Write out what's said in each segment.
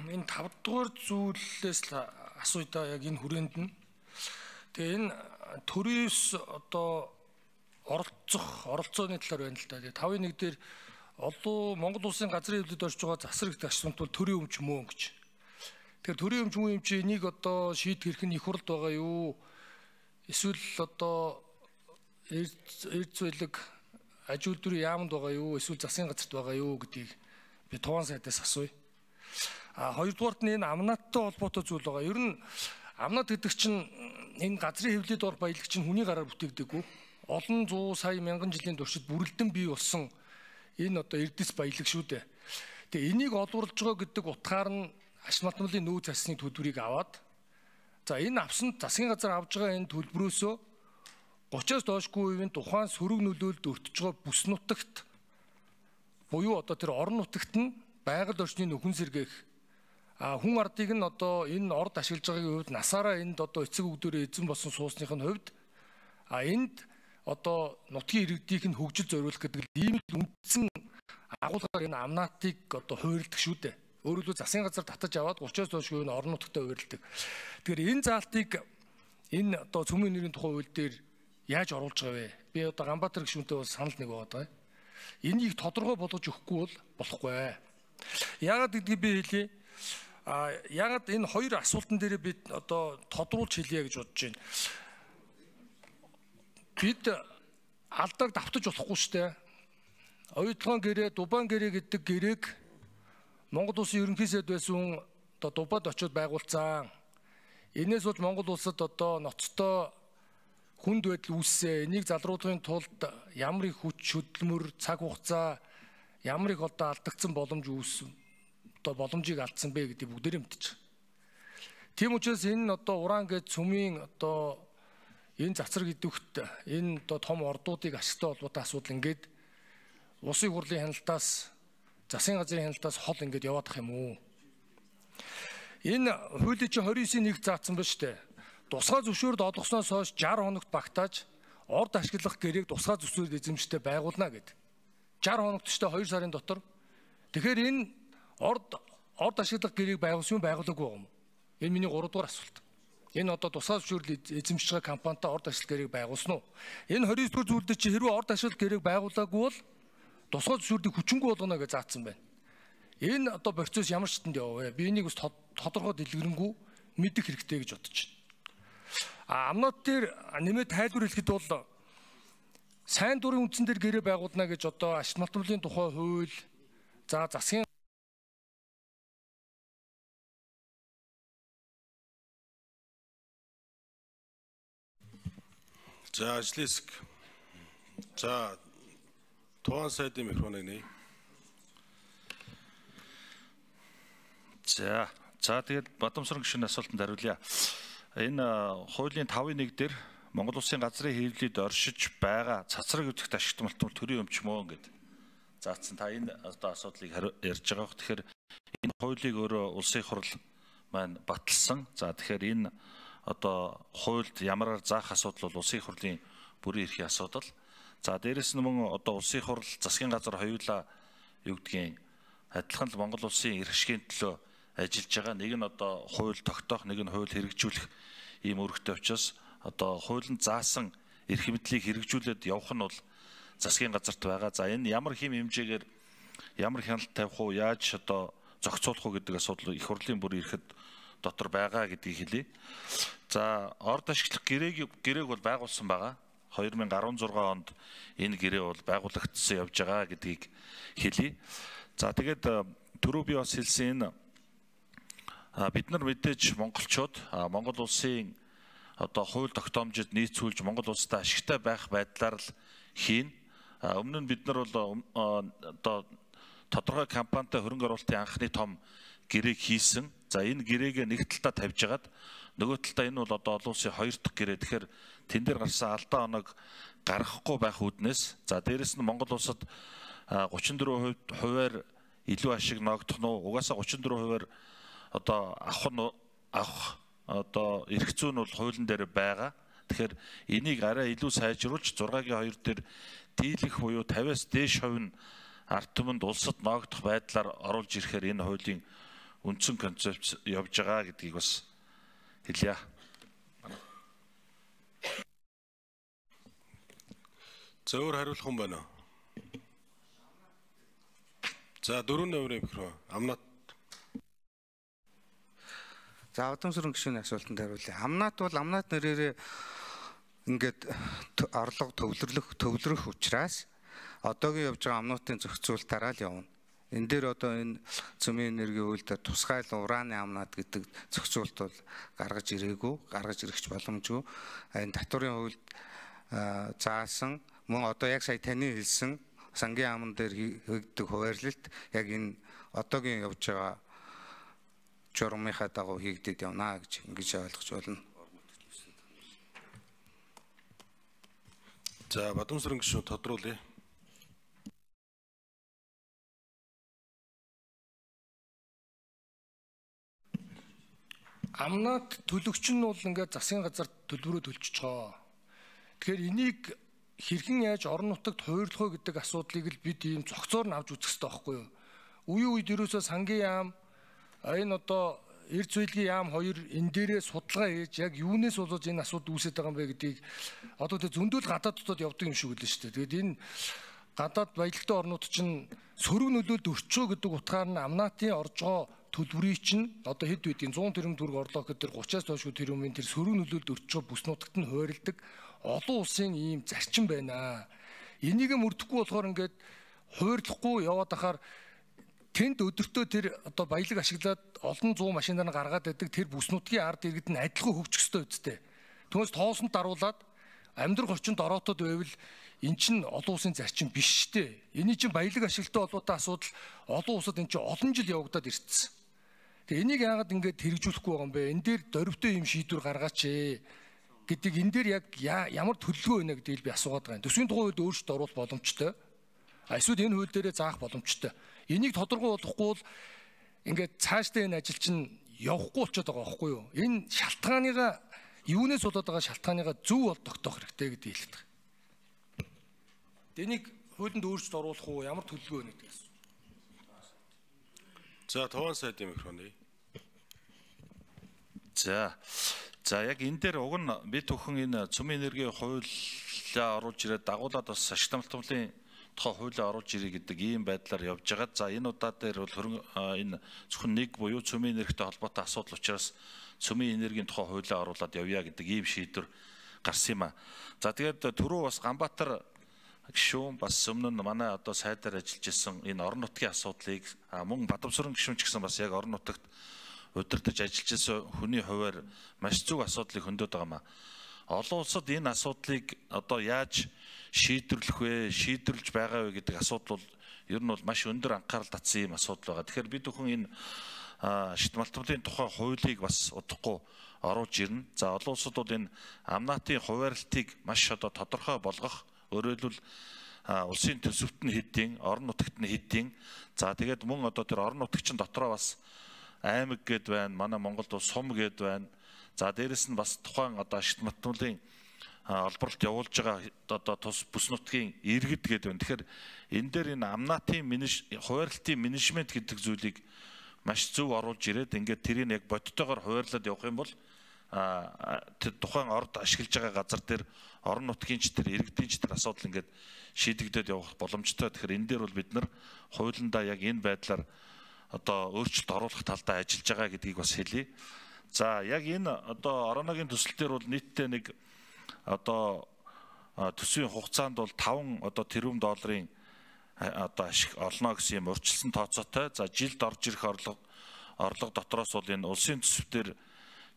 энэ 5 дугаар зүйлээс л асууя яг энэ хүрээнд нь. Тэгээ энэ төрөөс одоо оролцооны талаар байна л да. Тэгээ 5-1 дээр Монгол улсын газрын хэвлэлд орж байгаа засаг гэх асуулт бол төрийн өмч мөн гэж. Тэгэхээр төрийн өмч мөн юм чи энийг одоо шийдэх хэрэг нь их хурлд байгаа юу? Эсвэл одоо эрд зөвлөг аж үйлдвэрийн яамд байгаа юу? Эсвэл засгийн газарт байгаа юу гэдгийг би Туван сайдаас асууя. Хоёрдугаарт нь энэ амнааттай холбоотой зүйл байгаа. Ер нь амнаат гэдэг чинь энэ газрын хэвлэлд орох баялаг чинь хүний гараар бүтээгдэггүй. Олон 100 сая мянган жилийн туршид бүрэлдэн бий болсон энэ одоо эрдэс баялаг шүү дээ. Тэгээ энийг олборлож байгаа гэдэг утгаар нь ашиг малтмалын нөөц засгийн төлбөрийг аваад за энэ авсанд засгийн газар авж байгаа энэ төлбөрөөсөө 30-аас доошгүй үеийн тухайн сөрөг нөлөөлөлд өртөж байгаа бүс нутагт буюу одоо тэр орон нутагт нь байгаль орчны нөхөн сэргээх хүн ардыг нь одоо энэ орд ашиглаж байгаагийн хувьд насаараа энд одоо эцэг өвгдөрөө эзэн болсон суусныхын хувьд энд одоо нутгийн иргэдийг нь хөгжил зориулах гэдэг ийм л үндсэн агуулгаар энэ амнаатыг одоо хуурилдаг шүү дээ. Өөрөөр хэлбэл засгийн газар татаж аваад 30-аас доошгүй энэ орон нутагтаа хуурилдаг. Тэгэхээр энэ заалтыг энэ одоо цөмийн нэрийн тухай хууль дээр яаж оруулж байгаа вэ? Би одоо Ганбаатар гишүүнтэй бол санал нэг байгаа. Энийг тодорхой болгож өгөхгүй бол болохгүй. Яагаад гэдгийг би хэлье. Яагаад энэ хоёр асуултан дээр би одоо тодруулж хэлье гэж бодож байна. Бид алдааг давтаж болохгүй шүү дээ. Оюутлогын гэрээ, Дубан гэрээ гэдэг гэрээг Монгол улсын ерөнхий сайд байсан одоо Дубад очиод байгуулсан. Энээс болж Монгол улсад одоо ноцтой хүнд байдал үүссэн. Энийг залруулахын тулд ямар их хүч хөдөлмөр, цаг хугацаа, ямар их одоо алдагдсан боломж үүссэн. Одоо боломжийг алдсан бэ гэдгийг бүгдээрээ мэдчихэж байна. Тийм учраас энэ одоо уран гэж цөмийн одоо энэ цацраг идэвхт энэ одоо том ордуудыг ашигтай холбоотой асуудал ингээд улсын хурлын хяналтаас засгийн газрын хяналтаас хол ингээд яваад ах юм уу? Энэ хуулийн чинь 29-ийн 1 заасан ба штэ. Тусгай зөвшөөрөлд олгосноос хойш 60 хоногт багтааж орд ашиглах гэрээг тусгай зөвшөөрөл эзэмштэй байгуулна гэдэг. 60 хоногт штэ 2 сарын дотор. Тэгэхээр энэ орд ашиглах гэрээг байгуулсан юм байгуулаагүй юм. Энэ миний 3 дугаар асуулт. Энэ одоо тусгай зөвшөөрөл эзэмшиж байгаа компанитай орд ашиглах гэрээг байгуулсан уу? Энэ 29 дугаар зүйлдээ чи хэрвээ орд ашиглах гэрээг байгуулаагүй бол тусгай зөвшөөрлийг хүчингүй болгоно гэж заасан байна. Энэ одоо процесс ямар ч хэдэнд яваа вэ? Би энийг бас тодорхой дэлгэрэнгүй мэдэх хэрэгтэй гэж бодож байна. Амнууд дээр нэмээд тайлбар хэлэхэд бол сайн дурын үндсэн дээр гэрээ байгуулна гэж одоо ашиг малтмалын тухай хууль за засгийн за ажлын хэсэг за Туван сайдын микрофоныг нээ. За тэгээд Бадамсран гишүүний асуултанд хариулъя. Энэ хуулийн 5-1 дээр Монгол улсын газрын хэвлэлд оршиж байгаа цацраг өвдөгт ашигт малтмал төрийн өмч мөн гэдэг заасан. Та энэ одоо асуудлыг ярьж байгаа. Тэгэхээр энэ хуулийг өөрөө улсын хурл маань баталсан. За тэгэхээр энэ одоо хуульд ямараар заах асуудал бол улсын хурлын бүрийн эрхийн асуудал. За дээрэс нь мөн одоо улсын хурл засгийн газар хоёулаа юу гэдгийг адилхан л Монгол улсын эрх ашигын төлөө ажиллаж байгаа. Нэг нь одоо хууль тогтоох, нэг нь хууль хэрэгжүүлэх ийм үүрэгтэй учраас одоо хуулинд заасан эрх мэдлийг хэрэгжүүлээд явах нь бол засгийн газарт байгаа. За энэ ямар хэм хэмжээгээр ямар хяналт тавих уу, яаж одоо зохицуулах уу гэдэг асуудал их хурлын бүр ирэхэд дотор байгаа гэдгийг хэлье. За орд ашиглах гэрээг бол байгуулсан байгаа. 2016 онд энэ гэрээ бол байгуулагдсан явж байгаа гэдгийг хэлье. За тэгээд түрүү би бас хэлсэн энэ бид нар мэдээж монголчууд Монгол улсын одоо хууль тогтоомжид нийцүүлж Монгол улстай ашигтай байх байдлаар л хийн. Өмнө нь бид нар бол одоо тодорхой компанитай хөрөнгө оруулалтын анхны том гэрээг хийсэн. За энэ гэрээг нэг талдаа тавьж агаад нөгөө талдаа энэ бол одоо олон улсын 2 дахь гэрээ. Тэгэхээр тэн дээр гарсан алдаа оног гаргахгүй байх үүднээс за дээрэс нь Монгол улсад 34%-аар илүү ашиг ногдох нь угаасаа 34%-аар одоо авах одоо эрх зүйн бол хуулийн дээр байгаа. Тэгэхээр энийг арай илүү сайжруулж 6-гийн 2 дээр дийлэх буюу 50-аас дээш хувь нь ард түмэнд улсад ногдох байдлаар оруулж ирэхээр энэ хуулийн үндсэн концепц явж байгаа гэдгийг бас хэлье. Зөвөр хариулах хүн байна уу? За 4 номерын микрофон. Амнат. За Бадамсрын гишүүний асуултанд хариулъя. Амнат бол амнат нэрээр ингээд орлого төвлөрөх учраас одоогийн явж байгаа амнуудын зохицуултаараа л явна. Энэ дээр одоо энэ цөмийн энергийн үйлдэл тусгай ураны амнат гэдэг зохицуулт бол гаргаж ирэх боломжгүй. Энэ татварын хуульд заасан мөн одоо яг сая таны хэлсэн сангийн амн дээр хийгддэг хуваарлалт яг энэ одоогийн явж байгаа журмынхаа дагуу хийгдээд явна гэж ингэж ойлгож байна. За Бадамсрын гишүүн тодруулъя. Амнат төлөгч нь бол ингээд засгийн газар төлбөрөө төлчихөж байгаа. Тэгэхээр энийг хэрхэн яаж орон нутагт хуваарлах вэ гэдэг асуудлыг л бид ийм зохицоор нь авч үзэх хэрэгтэй байхгүй юу? Үеийн үед ерөөсөө сангийн яам энэ одоо эрд зүйдлгийн яам хоёр энэ дээрээ судалгаа хийж яг юунаас болоод энэ асуудал үүсэж байгаа юм бэ гэдгийг одоо тэг зөндөл гадааддууд явдаг юм шиг үлээ шүү дээ. Тэгээд энэ гадаад баялагтай орнууд чинь сөрөг нөлөөлд өрчөө гэдэг утгаар нь амнатын орж байгаа төлбөрийг чинь одоо хэд байдгийг 100 тэрбум төгрөг орлоо гэхээр 30-аас доошгүй тэрбумын тэр сөрөг нөлөөлд өрчөө бүс нутагт нь хуваарлдаг олон улсын ийм зарчим байна. Энийг мөрдөхгүй болохоор ингээд хуваарлахгүй яваад ахаар тэнд өдөртөө тэр одоо баялаг ашиглаад олон 100 машинаар гаргаад байдаг тэр бүс нутгийн ард иргэд нь адилхан хөгжих ёстой үсттэй. Түүнээс тоосонд даруулаад амьдрах орчинд ороотод байвал эн чинь олон улсын зарчим биш шүү дээ. Эний чинь баялаг ашиглалттай холбоотой асуудал олон улсад эн чинь олон жил явагдаад ирсэн. Тэгээ энийг яагаад ингээд хэрэгжүүлэхгүй байгаа юм бэ? Энэ дээр дөрвтэй юм шийдвэр гаргаач гэдэг энэ дээр яг ямар төлөвлөгөө байна гэдгийг би асуугаад байгаа юм. Төсвийн тухай хууль өөрчлөлт оруулах боломжтой. Эсвэл энэ хууль дээрээ заах боломжтой. Энийг тодорхой болгохгүй бол ингээд цаашдаа энэ ажил чинь явахгүй болчиход байгаа байхгүй юу? Энэ шалтгааныгаа юунаас болоод байгаа шалтгааныгаа зөв бол тогтоох хэрэгтэй гэдгийг хэлээд байгаа. Энийг хуулинд өөрчлөлт оруулах уу ямар төлөвлөгөө байна гэдгээс. За Туван сайдын микрофон. За яг энэ дээр уг нь бид бүхэн энэ цөмийн энергийн хуулиа оруулж ирээд дагуулад бас ашигт амлалтын тухай хуулиа оруулж ирэх гэдэг ийм байдлаар явж байгаа. За энэ удаа дээр бол энэ зөвхөн нэг буюу цөмийн энергитэй холбоотой асуудал учраас цөмийн энергийн тухай хуулиа оруулаад явъя гэдэг ийм шийдвэр гарсан юм а. За тэгээд түрүү бас Ганбаатар гишүүн бас өмнө нь манай одоо сайдаар ажиллаж исэн энэ орон нутгийн асуудлыг мөн Бадамсрын гишүүн ч гэсэн бас яг орон нутагт удирдах ажиллаж исэн хүний хувьар маш зөв асуудлыг хөндөд байгаа юм а. Олон улсад энэ асуудлыг одоо яаж шийдвэрлэх вэ, шийдвэрлэж байгаа вэ гэдэг асуудал бол ер нь бол маш өндөр анхаарал татсан юм асуудал байгаа. Тэгэхээр бид бүхэн энэ ашигт малтмалын тухай хуулийг бас удахгүй оруулж ирнэ. За олон улсад бол энэ амнатын хуваарлтыг маш одоо тодорхой болгох, өөрөөр хэлбэл улсын төсөвт нь хэдийн, орон нутагт нь хэдийн. За тэгээд мөн одоо тэр орон нутагчин дотроо бас аймаг гэд байна, манай Монголд бол сум гэд байна. За дээрэс нь бас тухайн одоо ашигт малтмалын олборлолт явуулж байгаа одоо тус бүс нутгийн иргэд гэд байна. Тэгэхээр энэ дээр энэ амнатын хуваарлтын менежмент гэдэг зүйлийг маш зөв оруулж ирээд ингээд тэрийг яг бодтойгоор хуваарлаад явах юм бол тэр тухайн орд ашиглаж байгаа газар дээр орон нутгийн ч тэр иргэдийн ч тэр асуудал ингээд шийдэгдээд явах боломжтой. Тэгэхээр энэ дээр бол бид нар хуулиндаа яг энэ байдлаар одоо өөрчлөлт оруулах талдаа ажиллаж байгаа гэдгийг бас хэлье. За яг энэ одоо ороногийн төсөл дээр бол нийтдээ нэг одоо төсвийн хугацаанд бол 5 одоо тэрбум долларын одоо ашиг олно гэсэн юм урьдчилсан тооцоотой. За жилд орж ирэх орлого дотроос бол энэ улсын төсөвтөр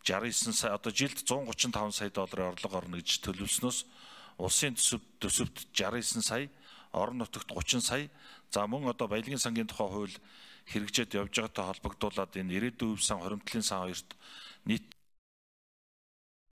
69 сая одоо жилд 135 сая долларын орлого орно гэж төлөвлөснөөс улсын төсөвт 69 сая, орон нутагт 30 сая. За мөн одоо баялагын сангийн тухай хууль хэрэгжээд явж байгаатай холбогдуулаад энэ ирээдүйн сан, хоримтлын сан хоёрт нийт